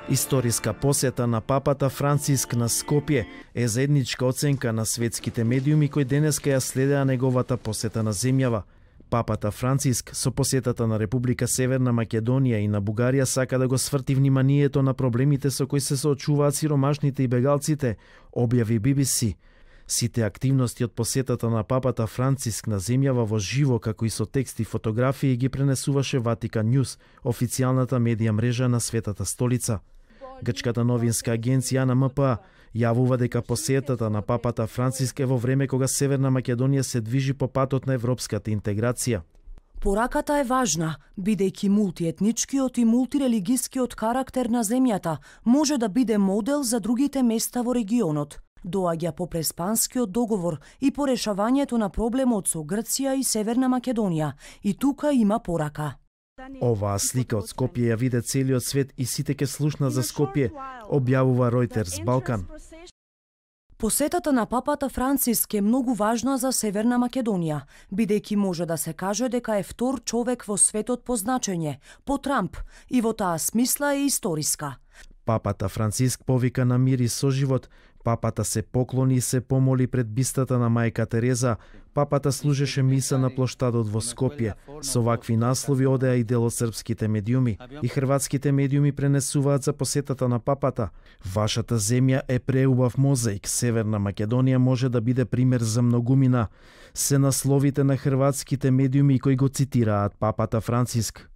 Историска посета на папата Франциск на Скопје е заедничка оценка на светските медиуми кои денеска ја следеа неговата посета на земјава. Папата Франциск со посетата на Република Северна Македонија и на Бугарија сака да го сврти вниманието на проблемите со кои се соочуваат сиромашните и бегалците, објави BBC. Сите активности од посетата на папата Франциск на земјава во живо, како и со текст и фотографии, ги пренесуваше Ватикан Њуз, официјалната медија мрежа на Светата столица. Грчката новинска агенција АНМП јавува дека посетата на папата Франциск е во време кога Северна Македонија се движи по патот на европската интеграција. Пораката е важна, бидејќи мултиетничкиот и мултирелигискиот карактер на земјата може да биде модел за другите места во регионот. Доаѓа по Преспанскиот договор и по решавањето на проблемот со Грција и Северна Македонија. И тука има порака. Оваа слика од Скопје ја виде целиот свет и сите ке слушна за Скопје, објавува Reuters Балкан. Посетата на папата Франциск е многу важна за Северна Македонија, бидејќи може да се каже дека е втор човек во светот по значење, по Трамп, и во таа смисла е историска. Папата Франциск повика на мир и соживот, папата се поклони и се помоли пред бистата на мајка Тереза, папата служеше миса на плоштадот во Скопје. Со вакви наслови одеа и дел од српските медиуми. И хрватските медиуми пренесуваат за посетата на папата. Вашата земја е преубав мозаик, Северна Македонија може да биде пример за многумина. Се насловите на хрватските медиуми кои го цитираат папата Франциск.